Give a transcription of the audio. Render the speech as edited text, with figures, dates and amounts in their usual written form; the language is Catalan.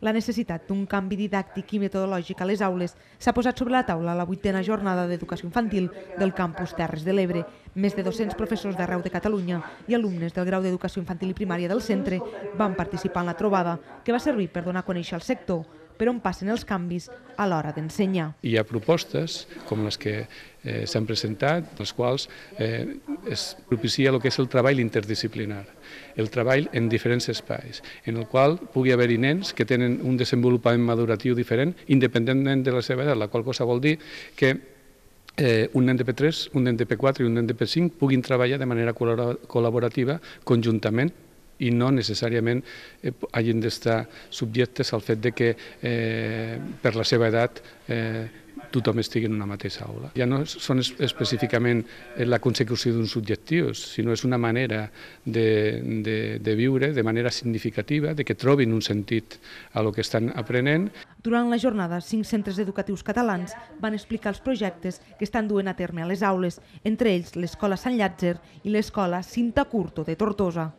La necessitat d'un canvi didàctic i metodològic a les aules s'ha posat sobre la taula a la 8a jornada d'educació infantil del campus Terres de l'Ebre. Més de 200 professors d'arreu de Catalunya i alumnes del grau d'educació infantil i primària del centre van participar en la trobada, que va servir per donar a conèixer el sector, per on passen els canvis a l'hora d'ensenyar. Hi ha propostes com les que s'han presentat, les quals es propicia el que és el treball interdisciplinar, el treball en diferents espais, en el qual pugui haver-hi nens que tenen un desenvolupament maduratiu diferent, independentment de la seva edat, la qual cosa vol dir que un nen de P3, un nen de P4 i un nen de P5 puguin treballar de manera col·laborativa conjuntament i no necessàriament hagin d'estar subjectes al fet de que per la seva edat tothom estigui en una mateixa aula. Ja no són específicament la consecució d'uns objectius, sinó és una manera de viure de manera significativa, de que trobin un sentit a lo que estan aprenent. Durant la jornada, 5 centres educatius catalans van explicar els projectes que estan duent a terme a les aules, entre ells l'Escola Sant Llàtzer i l'Escola Cinta Curto de Tortosa.